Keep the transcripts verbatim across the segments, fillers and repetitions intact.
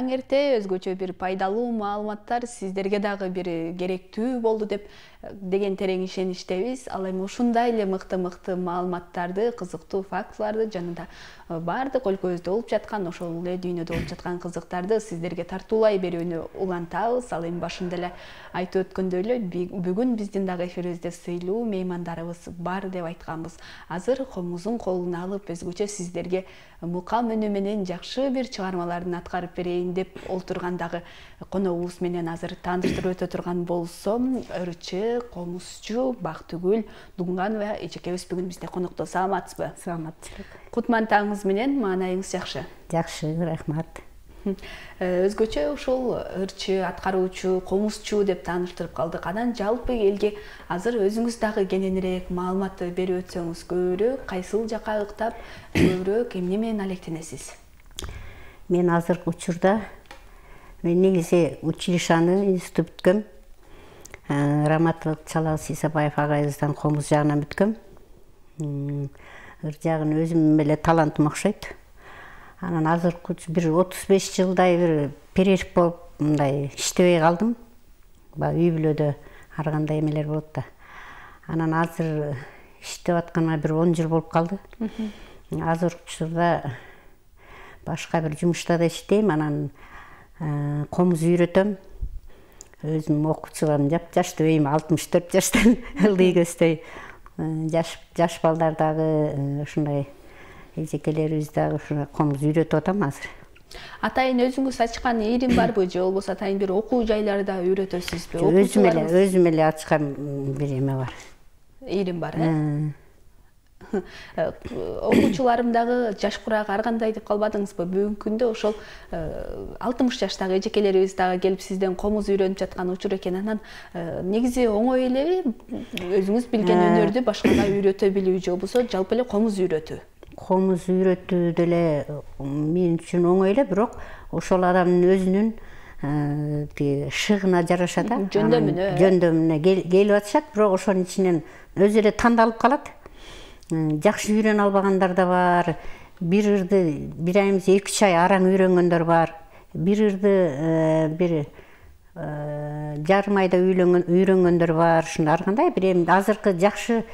таң эрте өзгөчө бир пайдалуу маалыматтар сиздерге дагы бир керектүү болду деп деген терең ишеничтебиз. Ал эми ушундай эле мыкты-мыкты маалыматтарды, кызыктуу фактыларды жана да бардык өлкөбүздө болуп жаткан, ошол эле дүйнөдө болуп жаткан кызыктарды сиздерге тартуулай берүүнү улантабыз. Ал эми башында эле айтып өткөндөй эле бүгүн биздин дагы эфирибизде сыйлуу меймандарыбыз бар деп айтканбыз. Азыр комузун колуна алып өзгөчө сиздерге мукам үнү менен жакшы бир чыгармалардын аткарып берейин деп олтургандагы коногубуз менен азыр тааныштырып өтө турган болсом, Өрчү, Комузчу Бактыгүл Дуңганова эжекебиз бүгүн бизде конокто. Саламатсызбы? Саламатчылык. Кутман таңыңыз менен, маанайыңыз жакшы? Жакшы, рахмат. Өзгөчө ушул ырчы, аткаруучу, комузчу деп тааныштырып калдык. Анан жалпы элге азыр өзүңүз дагы кененирээк маалымат берип өтсөңүз, көбүрөөк кайсыл жака ыктап, көбүрөөк эмне менен алектенесиз? Мен азыркы учурда мен негизи училищаны институт бүткөм. Раматов Чалабыз Исабаев агайыбыздан комуз жагынан бүткөм. Ыр жагын өзүм эле талантым окшойт. Анан азыркы бир отуз беш жылдай бир перерив болуп, мындай иштебей калдым. Баягы үй бүлөдө ар кандай эмелер болот да. Анан азыр иштеп атканыма бир он жыл болуп калды. Азыркы учурда башка бир жумушта да иштейм, анан комуз үйрөтөм. Өзүм окуучуларым жап-жаш дейм, алтымыш төрт жаштан ылдый көздөй жаш жаш балдар дагы ушундай эжекелерибиз дагы ушуна комуз үйрөтүп атам азыр. Атайын өзүңүз ачкан ирим барбы, же болбосо атайын бир окуу жайларда үйрөтөсүзбү? Өзүм эле, өзүм эле ачкан бир эме бар. Ирим бар, э? Окуучуларым дагы жаш курак ар кандай деп калбадыңызбы? Бүгүнкү күндө ошол алтымыш жаштагы эжекелерибиз дагы келип сизден комуз үйрөнүп жаткан учур экен. Анан негизи оңой элеби өзүңүз билген өнөрдү башкага үйрөтө билүү, же болбосо жалпы эле комуз үйрөтүү? Комуз үйрөтүү деле мен үчүн оңой эле, бирок ошол адамдын өзүнүн шыгына жараша да, жөндөмүнө жөндөмүнө келип атышат, бирок ошонун ичинен өзү эле тандалып калат. Жакшы үйрөнө албагандар да бар. Бир ырды бир ай эмес эки үч ай араң үйрөнгөндөр бар. Бир ырды бир жарым айда үйрөнгөндөр бар. Ушундай ар кандай бир эми азыркы жакшы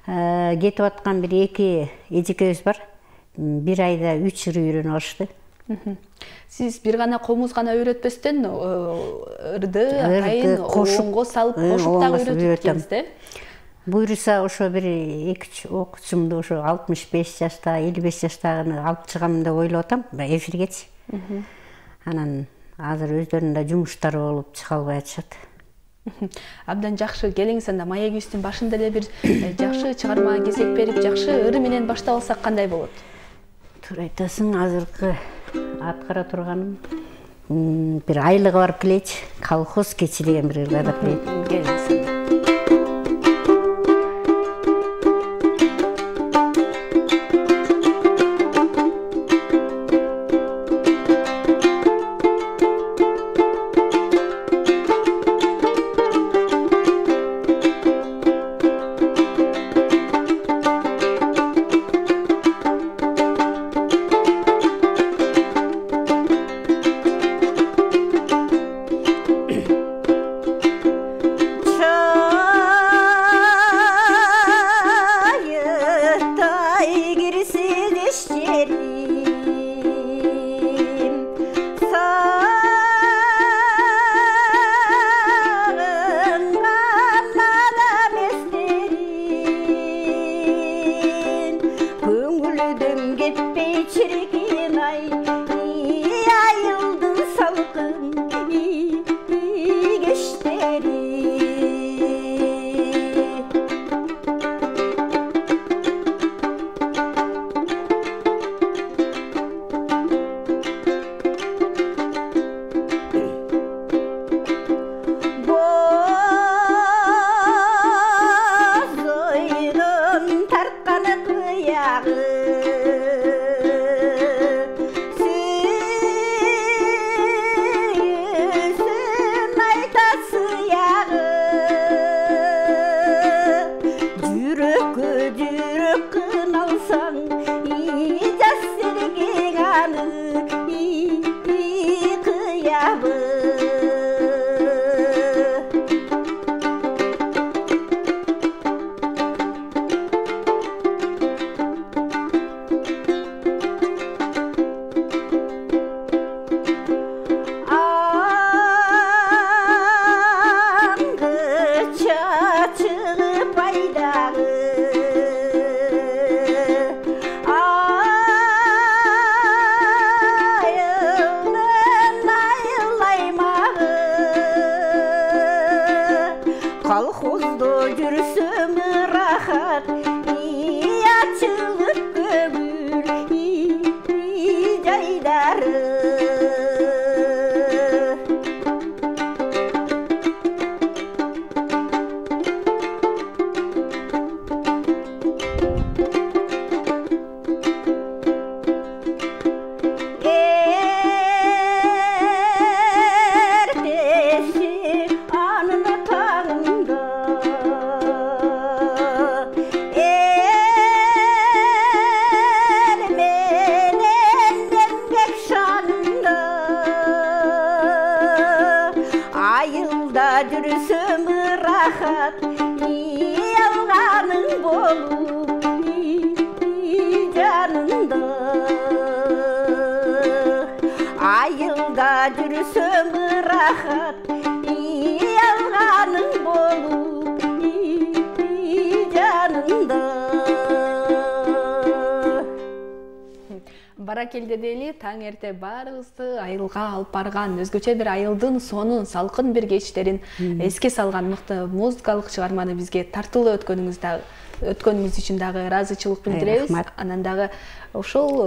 кетип аткан бир эки эжекебиз бар. Бир айда үч ыр үйрөнүп алышты. Сиз бир гана комуз гана үйрөтпөстөн ырды атайын оңго салып кошуп дагы үйрөтүп кетесиз да? Буйруса ошо бир эки үч окуучумду ошо алтымыш беш жашта, элүү беш жаштагыны алып чыгам деп ойлоп атам, эфиргечи. Анан азыр өздөрүнүн да жумуштары болуп чыга албай атышат. Абдан жакшы. Келиңиз анда маегибиздин башында эле бир жакшы чыгарма кезек берип, жакшы ыр менен баштап алсак кандай болот? Туура айтасың, азыркы аткара турганым бир айлыгы барып келечи. Колхоз кечи деген бир ырга да келет. Келиңиз. жүрсөң ырахат, ий алганың болуп жаныңда. Баракелде дели таң эрте баарыбызды айылга алып барган, өзгөчө бир айылдын сонун, салкын бир кечтерин эске салган мыкты музыкалык чыгарманы бизге тартуулап өткөнүңүздө өткөнүңүз үчүн дагы ыраазычылык билдиребиз. Анан дагы ошол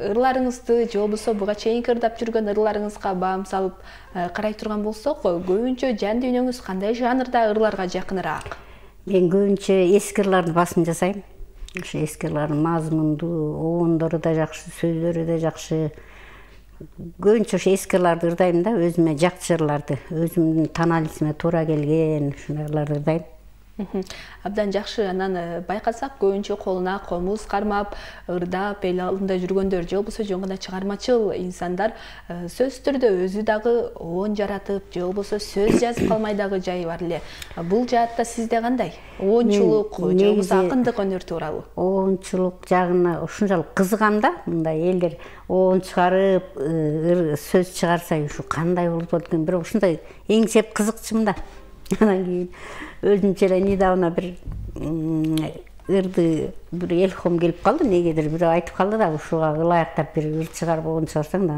ырларыңызды же болбосо буга чейинки ырдап жүргөн ырларыңызга баам салып карай турган болсок, көбүнчө жан дүйнөңүз кандай жанрда ырларга жакыныраак? Мен көбүнчө эски ырларды басым жасайм. Ошо эски ырлардын мазмундуу, обондору да жакшы, сөздөрү да жакшы. Көбүнчө ошо эски ырларды ырдайм да, өзүмө жакчы ырларды, өзүмдүн таанилисиме туура келген ушундай ырларды ырдайм. Абдан жакшы. Анан байкасак, көбүнчө колуна комуз кармап, ырдап, эл алдында жүргөндөр же болбосо жөн гана чыгармачыл инсандар сөзсүз түрдө өзү дагы оон жаратып, же болбосо сөз жазып калмай дагы жайы бар эле. Бул жаатта сизде кандай? Оончулук же болбосо акындык өнөр тууралуу? Оончулук жагына ушунчалык кызыгам да. Мындай элдер оон чыгарып, сөз чыгарса, ушу кандай болуп экен, бирок ушундай эң сеп кызыкчумун да. Анан кийин өзүмчө эле недавно бир ырды бир элхом келип калды, негедир бирөө айтып калды да, ушуга ылайыктап бир ыр чыгарып оон чыгарсаң да.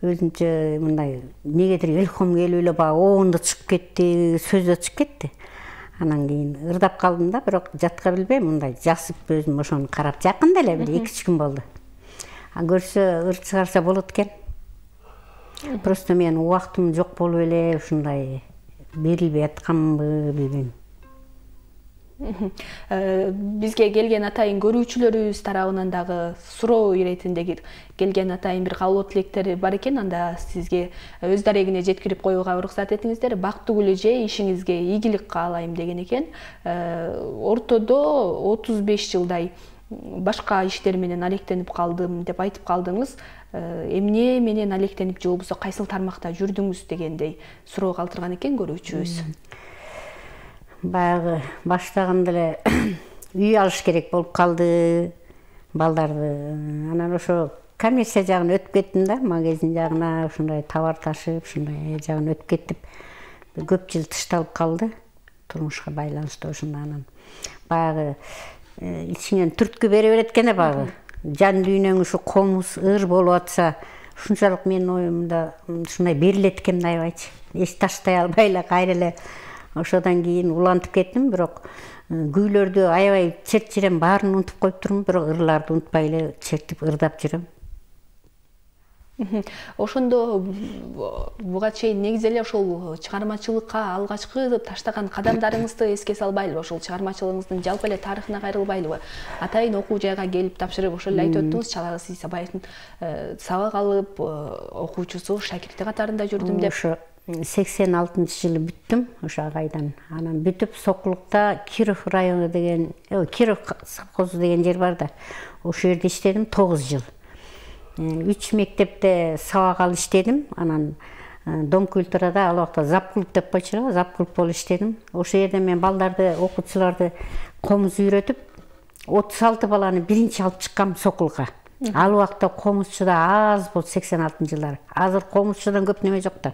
Өзүмчө мындай негедир элхом келип эле баягы оонду чыгып кетти, сөз да чыгып кетти. Анан кийин ырдап калдым да, бирок жатка билбейм, мындай жасып өзүм ошону карап жакында эле бир эки үч күн болду. А көрсө ыр чыгарса болот экен. Просто мен убактым жок болуп эле ушундай берилбей атканбы билбейм. Бизге келген атайын көрүүчүлөрүбүз тарабынан дагы суроо иретинде келген атайын бир каалоо тилектери бар экен. Анда сизге өз дарегине жеткирип коюуга уруксат этиңиздер. Бактылуу эже, ишиңизге ийгилик каалайм деген экен. Ортодо отуз беш жылдай башка иштер менен алектенип калдым деп айтып калдыңыз. Эмне менен алектенип же болбосо кайсыл тармакта жүрдүңүз дегендей суроо калтырган экен көрүүчүбүз. Баягы баштаганда эле үй алыш керек болуп калды балдарды. Анан ошо коммерция жагына өтүп кеттим да, магазин жагына ушундай товар ташып, ушундай жагына өтүп кеттим. Көп жыл тышталып калды турмушка байланыштуу ошондо. Анан баягы ичиңен түрткү бере берет экен да, баягы жан дүйнөң ушу комуз, ыр болуп атса, ушунчалык менин оюмда ушундай берилет экен да, аябайчы. Эч таштай албай эле кайра эле ошодон кийин улантып кеттим, бирок күүлөрдү аябай чертип жүрөм, баарын унутуп коюп турмун, бирок ырларды унутпай эле чертип ырдап жүрөм. Ошондо буга чейин негизи эле ошол чыгармачылыкка алгачкы таштаган кадамдарыңызды эске салбайлыбы? Ошол чыгармачылыгыңыздын жалпы эле тарыхына кайрылбайлыбы? Атайын окуу жайга келип тапшырып, ошол эле айтып өттүңүз, Чалалы Сисабаевдин сабак алып, окуучусу, шакирти катарында жүрдүм деп. Ошо сексен алтынчы жылы бүттүм ошо агайдан. Анан бүтүп Сокулукта Киров району деген, Киров совхозу деген жер бар да. Ошол жерде иштедим тогуз жыл. үч мектепте сабак алып иштедим. Анан Дом культурада ал убакта запклуб деп койчу, запклуб болуп иштедим. Ошол жерде мен балдарды, окуучуларды комуз үйрөтүп, отуз алты баланы биринчи алып чыккам Сокулга. Ал убакта комузчу да аз болду, сексен алтынчы жылдары. Азыр комузчудан көп неме жок да.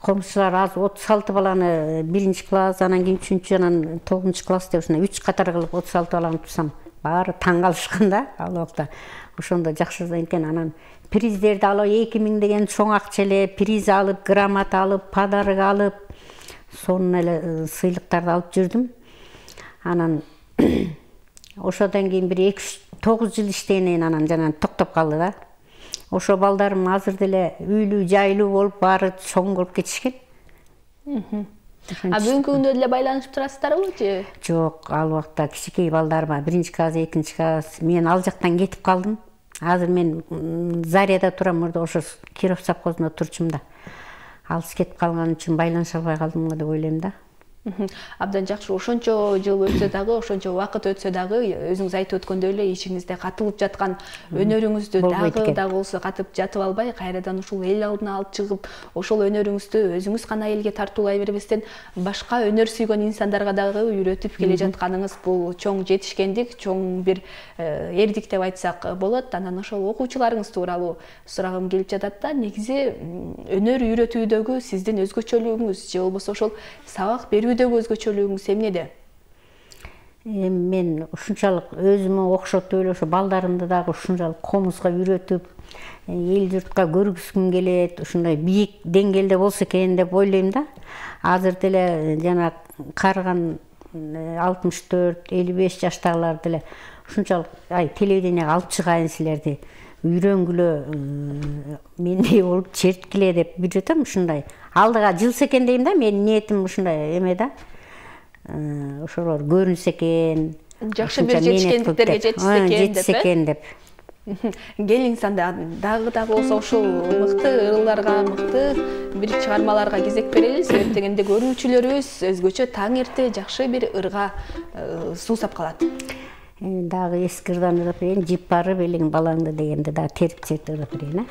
Комузчулар аз, отуз алты баланы биринчи класс, анан кийин үчүнчү, анан тогузунчу класс деп ушундай үч катар кылып отуз алты баланы тусам, баары таң калышкан да ал убакта. Ошондо жакшы экен. Анан приздерди алып, эки миң деген чоң акча эле приз алып, грамота алып, подарок алып, сонун эле сыйлыктарды алып жүрдүм. Анан ошодон кийин бир эки тогуз жыл иштегенден анан жана токтоп калды да. Ошо балдарым азыр деле үйлүү, жайлуу болуп, баары чоң болуп кетишкен. А бүгүнкү күндө деле байланышып турасыздарбы же? Жок, ал убакта кичинекей балдарыма биринчи класс, экинчи класс, мен ал жактан кетип калдым. Азыр мен Зарияда турам, ордо ошо Киров совхозунда турчумун да. Алыс кетип калган үчүн байланыша албай калдым го деп ойлойм да. Абдан жакшы. Ошончо жыл өтсө дагы, ошончо убакыт өтсө дагы, өзүңүз айтып өткөндөй эле ичиңизде катылып жаткан өнөрүңүздү дагы да болсо катып жатып албай, кайрадан ушул эл алдына алып чыгып, ошол өнөрүңүздү өзүңүз гана элге тартуулай бербестен, башка өнөр сүйгөн инсандарга дагы үйрөтүп келе жатканыңыз бул чоң жетишкендик, чоң бир эрдик деп айтсак болот. Анан ошол окуучуларыңыз тууралуу сурагым келип жатат да. Негизи өнөр үйрөтүүдөгү сиздин өзгөчөлүгүңүз же болбосо ошол сабак берүүдөгү өзгөчөлүгүңүз эмнеде? Мен ушунчалык өзүмө окшотуп эле ошо балдарымды дагы ушунчалык комузга үйрөтүп, эл журтка көргүзгүм келет, ушундай бийик деңгээлде болсо экен деп ойлойм да. Азыр деле жана карыган алтымыш төрт элүү беш жаштагылар деле ушунчалык ай телевиденияга алып чыгайын силерди, үйрөнгүлө, мендей болуп черткиле деп үйрөтөм. Ушундай алдыга жылса экен дейм да. Менин ниетим ушундай эме да. Ошолор көрүнсө экен, жакшы бир жетишкендиктерге жетишсе экен деп. Келиңиз анда дагы дагы болсо ушул мыкты ырылдарга, мыкты бир чыгармаларга кезек берели. Себеп дегенде көрүүчүлөрүбүз өзгөчө таң эрте жакшы бир ырга суусап калат. Дагы эски ырдан ырып берейин. Жип барып элиң балаңды дегенде дагы терип терт ырып берейин.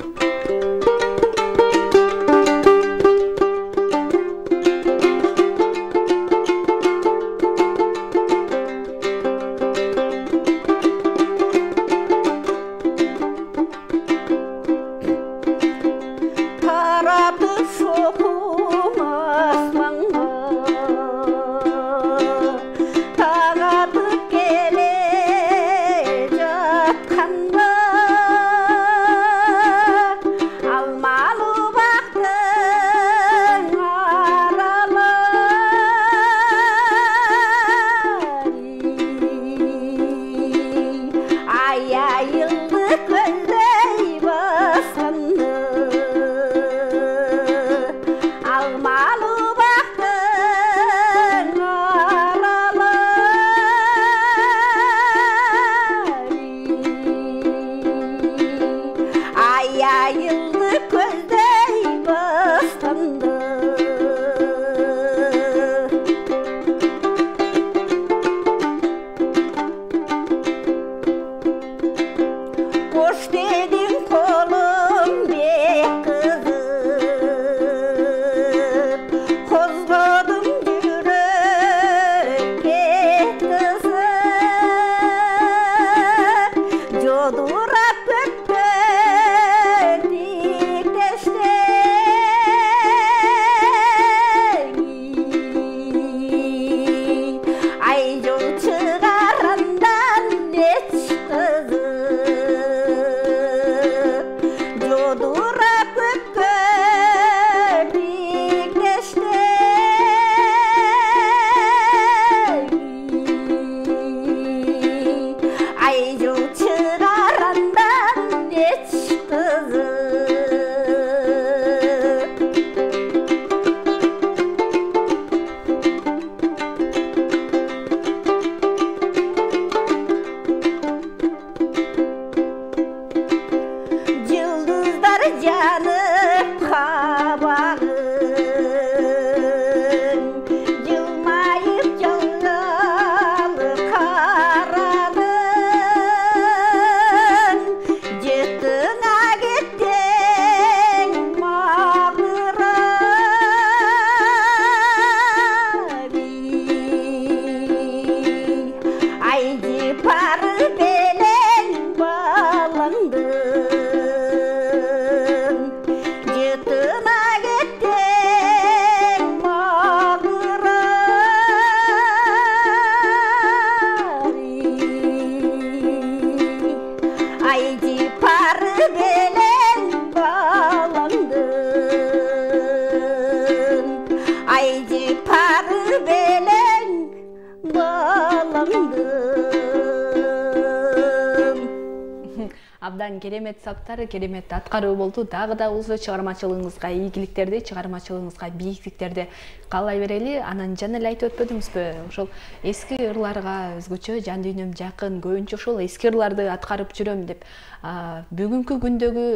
абдан керемет сабактар, керемет аткаруу болду. Дагы да болсо чыгармачылыгыңызга ийгиликтерди, чыгармачылыгыңызга бийиктиктерди каалай берели. Анан жана эле айтып өтпөдүңүзбү? Ошол эски ырларга өзгөчө жан дүйнөм жакын, көбүнчө ошол эски ырларды аткарып жүрөм деп. Бүгүнкү күндөгү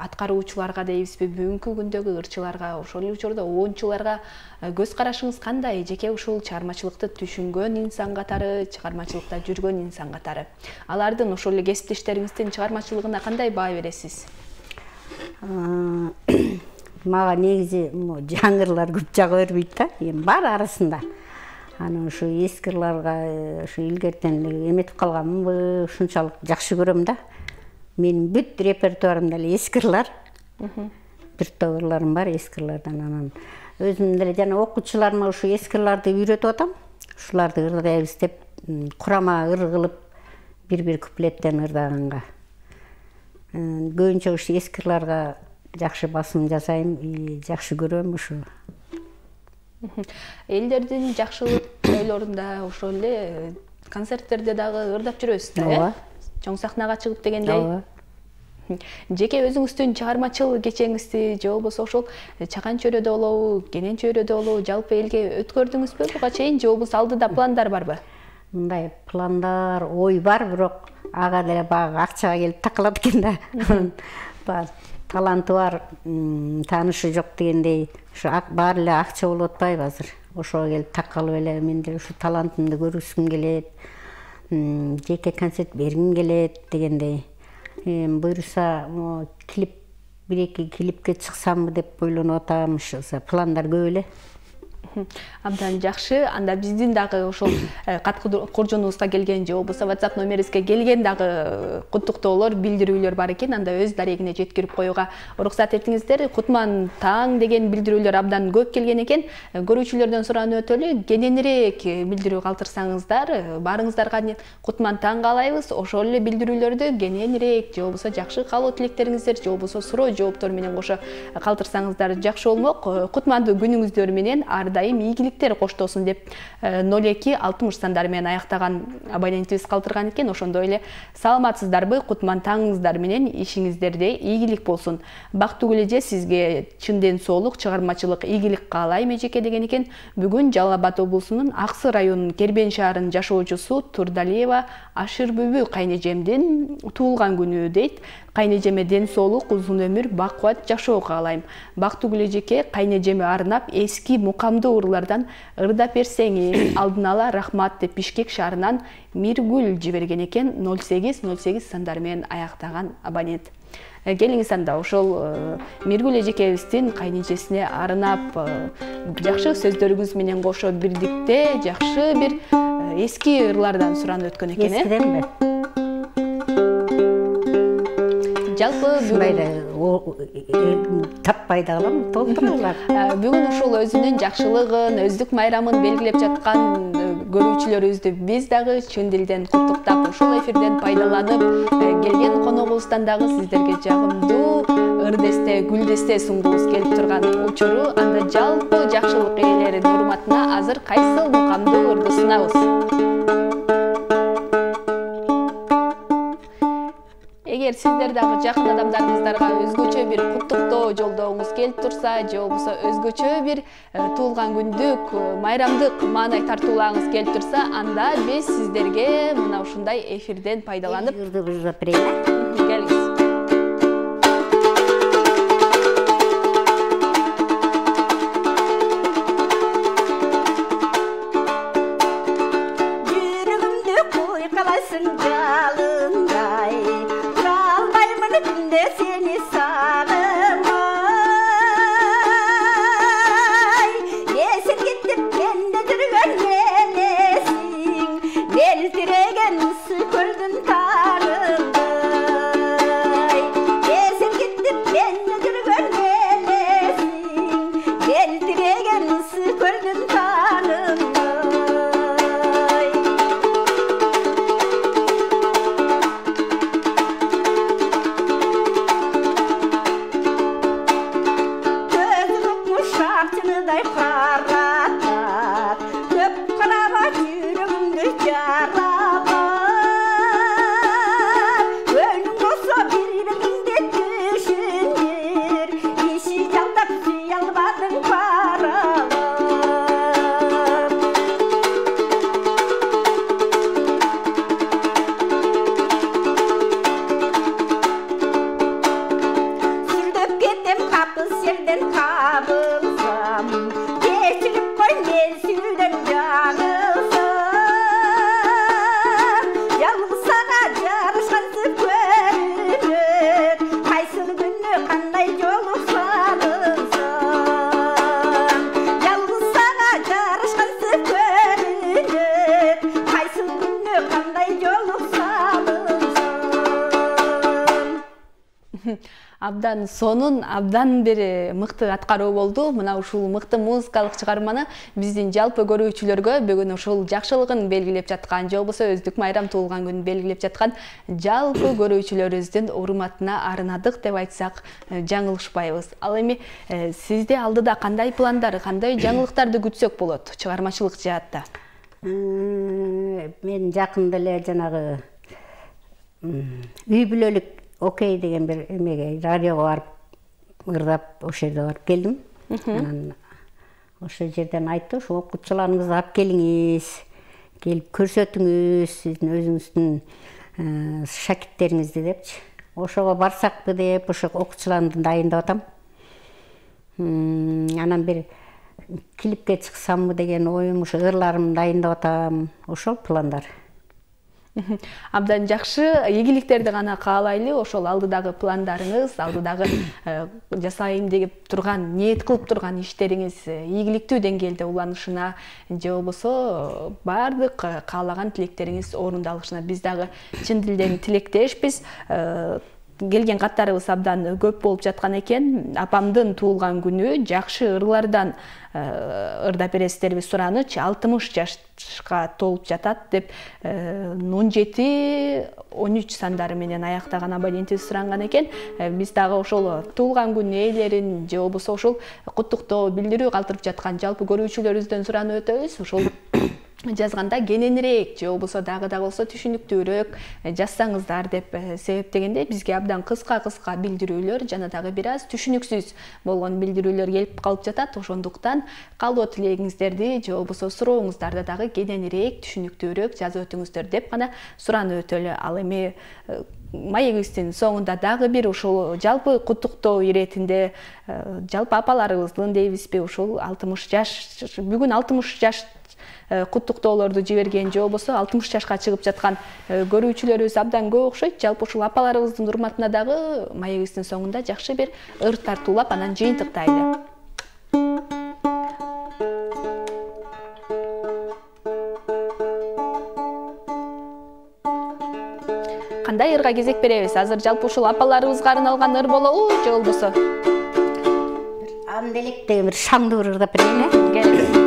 аткаруучуларга дейбизби, бүгүнкү күндөгү ырчыларга, ошол эле учурда оончуларга көз карашыңыз кандай? Жеке ушул чыгармачылыкты түшүнгөн инсан катары, чыгармачылыкта жүргөн инсан катары. Алардын ошол эле кесиптештериңиздин чыгармачылыгына кандай баа бересиз? Мага негизи жаңырлар көп жага бербейт да. Эми бар арасында. Анан ушу эски ырларга ушу илгертен эметип калганмынбы, ушунчалык жакшы көрөм да. Менин бүт репертуарымда эле эски ырлар. Бир топ ырларым бар эски ырлардан. Анан өзүм деле жана окуучуларыма ушу эски ырларды үйрөтүп атам. Ушуларды ырдайбыз деп курама ыр кылып бир-бир куплеттен ырдаганга. Көбүнчө ушу эски ырларга жакшы басым жасайм, жакшы көрөм ушу. Элдердин жакшылык тойлорунда ошол эле концерттерде дагы ырдап жүрөсүз да, э? Чоң сахнага чыгып дегендей. Жеке өзүңүздүн чыгармачыл кечеңизди же болбосо ошол Чакан чөйрөдө болобу, Кенен чөйрөдө болобу, жалпы элге өткөрдүңүзбү буга чейин же болбосо алдыда пландар барбы? Мындай пландар, ой бар, бирок ага деле баягы акчага келип такалат экен да. Таланты бар, таанышы жок дегендей, ушу баары эле акча болуп атпайбы азыр. Ошого келип такалып эле мен деле ушу талантымды көргүзгүм келет, жеке концерт бергим келет дегендей. Буюрса клип, бир-эки клипке чыксамбы деп ойлонуп атам, ушу пландар көп эле. Абдан жакшы. Анда биздин дагы ошол кат куржунубузга келген же болбосо WhatsApp номерибизге келген дагы куттуктоолор, билдирүүлөр бар экен. Анда өз дарегине жеткирип коюуга уруксат этиңиздер. Кутман таң деген билдирүүлөр абдан көп келген экен. Көрүүчүлөрдөн суранып өтөлү, кененирээк билдирүү калтырсаңыздар, баарыңыздарга Кутман таң каалайбыз. Ошол эле билдирүүлөрдү кененирээк же болбосо жакшы каалоо тилектериңиздер же болбосо суроо жооптор менен кошо калтырсаңыздар жакшы болмок. Кутмандуу күнүңүздөр менен ардайым ийгиликтер коштосун деп ноль эки алтымыш сандары менен аяктаган абонентибиз калтырган экен. Ошондой эле саламатсыздарбы? Кутман таңыңыздар менен ишиңиздерде ийгилик болсун. Бактылуу кележе сизге чын ден соолук, чыгармачылык ийгилик каалайм эжеке деген экен. Бүгүн Жалал Абад облусунун Аксы районунун Кербен шаарынын жашоочусу Турдалиева Ашырбүбү кайнежемдин туулган күнү дейт. Кайнежеме ден соолук, узун өмүр, бакубат жашоо каалайм. Бактылуу кележекке кайнежеме арнап эски мукамдуу ырлардан ырдап берсеңиз, алдын ала рахмат деп Бишкек шаарынан Миргүл жиберген экен. ноль сегиз ноль сегиз сандары менен аяктаган абонент. Келиңиз анда ошол Миргүл эжекебиздин кайнежесине арнап жакшы сөздөрүңүз менен кошо бирдикте жакшы бир эски ырлардан суранып өткөн экен, э? Эскиденби? Жалпы бүгүн таппай да калам, толтуралар. Бүгүн ушул өзүнүн жакшылыгын, өздүк майрамын белгилеп жаткан көрүүчүлөрүбүздү биз дагы чын дилден куттуктап, ушул эфирден пайдаланып, келген коногубуздан дагы сиздерге жагымдуу ыр-десте, гүл-десте сунгубуз келип турган учуру. Анда жалпы жакшылык ээлеринин урматына азыр кайсыл мукамдуу ырды сунабыз? Эгер сиздер дагы жакын адамдарыңыздарга өзгөчө бир куттуктоо жолдогуңуз келип турса, же болбосо өзгөчө бир туулган күндүк, майрамдык маанай тартуулаагыңыз келип турса, анда биз сиздерге мына ушундай эфирден пайдаланып келиңиз. Seni sağlamay, yesin gittim bende durgan nelesin, deltiregen su koldun tarımday. Yesin gittim bende durgan nelesin, deltiregen su koldun tarımday. Абдан сонун, абдан бир мыкты аткаруу болду. Мына ушул мыкты музыкалык чыгарманы биздин жалпы көрүүчүлөргө бүгүн ушул жакшылыгын белгилеп жаткан, же болбосо өздүк майрам туулган күнүн белгилеп жаткан жалпы көрүүчүлөрүбүздүн урматына арнадык деп айтсак жаңылышпайбыз. Ал эми сизде алдыда кандай пландар, кандай жаңылыктарды күтсөк болот чыгармачылык жаатта? Мен жакында эле жанагы үй бүлөлүк окей деген бир эмеге радиого барып ырдап ошол жерде барып келдим. Анан ошол жерден айтты, ошо окуучуларыңызды алып келиңиз, келип көрсөтүңүз сиздин өзүңүздүн шакирттериңизди депчи. Ошого барсакпы деп ошо окуучуларымды дайындап атам. Анан бир клипке чыксамбы деген оюм, ошо ырларымды дайындап атам. Ошол пландар. Абдан жакшы, ийгиликтерди гана каалайлы. Ошол алдыдагы пландарыңыз, алдыдагы жасайын деп турган, ниет кылып турган иштериңиз ийгиликтүү деңгээлде уланышына, же болбосо баардык каалаган тилектериңиз орундалышына биз дагы чын дилден тилектешпиз. Келген каттарыбыз абдан көп болуп жаткан экен. Апамдын туулган күнү жакшы ырлардан ырдап бересиздерби сураныч, алтымыш жашка толуп жатат деп он жети он үч сандары менен аяктаган абонентибиз суранган экен. Биз дагы ошол туулган күн ээлерин же болбосо ошол куттуктоо билдирүү калтырып жаткан жалпы көрүүчүлөрүбүздөн суранып өтөбүз. Ошол жазганда кененирээк же болбосо дагы да болсо түшүнүктүүрөөк жазсаңыздар деп себептегенде бизге абдан кыска-кыска билдирүүлөр жана дагы бир аз түшүнүксүз болгон билдирүүлөр келип калып жатат. Ошондуктан калдоо тилегиңиздерди же болбосо сурооңуздарды дагы кененирээк түшүнүктүүрөөк жазып өтүңүздөр деп гана суранып өтөлү. Ал эми маегибиздин соңунда дагы бир ушул жалпы куттуктоо иретинде жалпы апаларыбыздын дейбизби, ушул алтымыш жаш, бүгүн алтымыш жаш куттуктоолорду жиберген же болбосо алтымыш жашка чыгып жаткан көрүүчүлөрүбүз абдан көп окшойт. Жалпы ушул апаларыбыздын урматына дагы маегибиздин соңунда жакшы бир ыр тартуулап анан жыйынтыктайлы. Кандай ырга кезек беребиз? Азыр жалпы ушул апаларыбызга арналган ыр болобу же болбосо? Анделек деген бир шаңдуу ыр ырдап берейин, э? Келиңиз.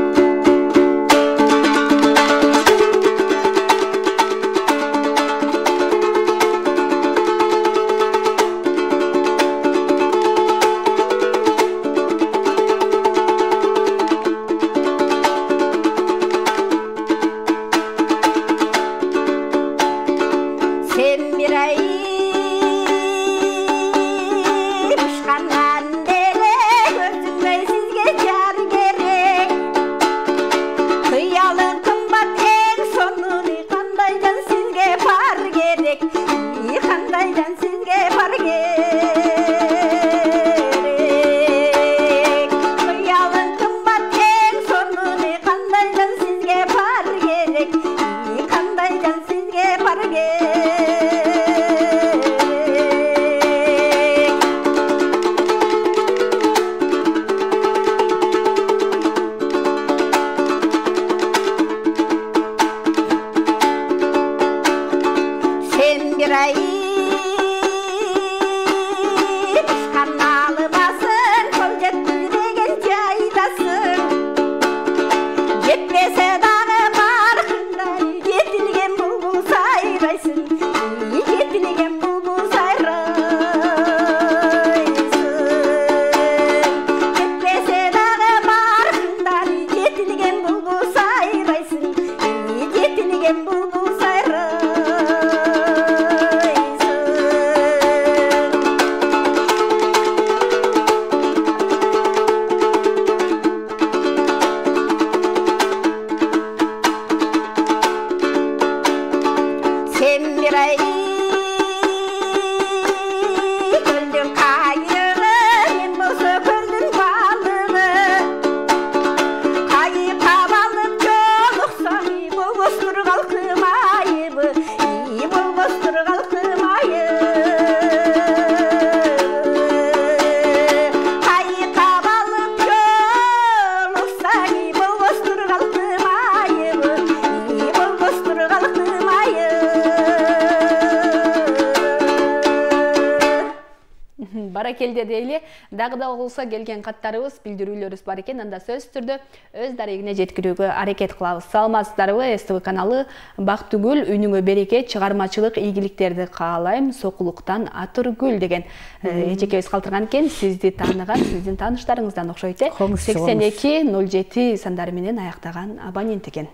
Баракелде дейли. Дагы да болсо келген каттарыбыз, билдирүүлөрүбүз бар экен. Анда сөзсүз түрдө өз дарегине жеткирүүгө аракет кылабыз. Саламатсыздарбы? СТВ каналы Бактыгүл үнүңө берекет, чыгармачылык ийгиликтерди каалайм, сокулуктан атыргүл деген эжекебиз калтырган экен. Сизди тааныган, сиздин тааныштарыңыздан окшойт э. сексен эки ноль жети сандары менен аяктаган абонент экен.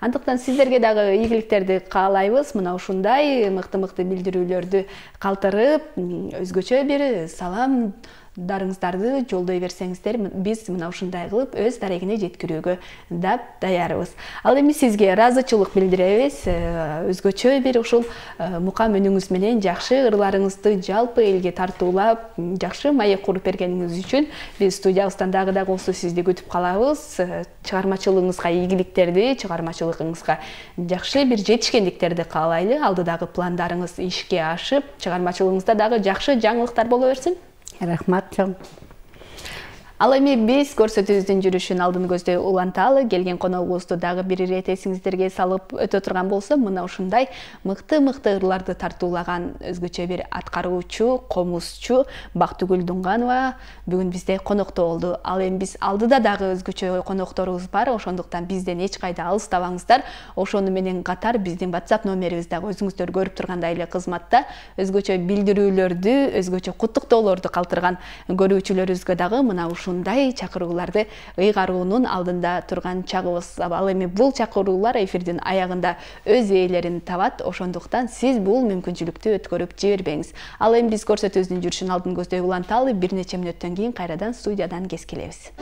Андыктан сиздерге дагы ийгиликтерди каалайбыз. Мына ушундай мыкты-мыкты билдирүүлөрдү калтырып, өзгөчө бир салам дарыңыздарды жолдой берсеңиздер, биз мына ушундай кылып өз дарегине жеткирүүгө дап даярбыз. Ал эми сизге ыраазычылык билдиребиз. Өзгөчө бир ушул мукам үнүңүз менен жакшы ырларыңызды жалпы элге тартуулап, жакшы маек куруп бергениңиз үчүн биз студиябыздан дагы да болсо сизди күтүп калабыз. Чыгармачылыгыңызга ийгиликтерди, чыгармачылыгыңызга жакшы бир жетишкендиктерди каалайлы. Алдыдагы пландарыңыз ишке ашып, чыгармачылыгыңызда дагы жакшы жаңылыктар боло берсин. Рахмат чоң. Ал эми биз көрсөтүүбүздүн жүрүшүн алдын көздөй уланталы. Келген коногубузду дагы бир ирет эсиңиздерге салып өтө турган болсо, мына ушундай мыкты-мыкты ырларды тартуулаган өзгөчө бир аткаруучу, комузчу Бактыгүл Дунганова бүгүн бизде конокто болду. Ал эми биз алдыда дагы өзгөчө конокторубуз бар, ошондуктан бизден эч кайда алыстабаңыздар. Ошону менен катар биздин WhatsApp номерибиз дагы өзүңүздөр көрүп тургандай эле кызматта. Өзгөчө билдирүүлөрдү, өзгөчө куттуктоолорду калтырган көрүүчүлөрүбүзгө дагы мына ушундай чакырууларды ыйгаруунун алдында турган чагыбыз. Ал эми бул чакыруулар эфирдин аягында өз ээлерин табат. Ошондуктан сиз бул мүмкүнчүлүктү өткөрүп жибербеңиз. Ал эми биз көрсөтүүбүздүн жүрүшүн алдын көздөй уланталы. Бир нече мүнөттөн кийин кайрадан студиядан кез келебиз.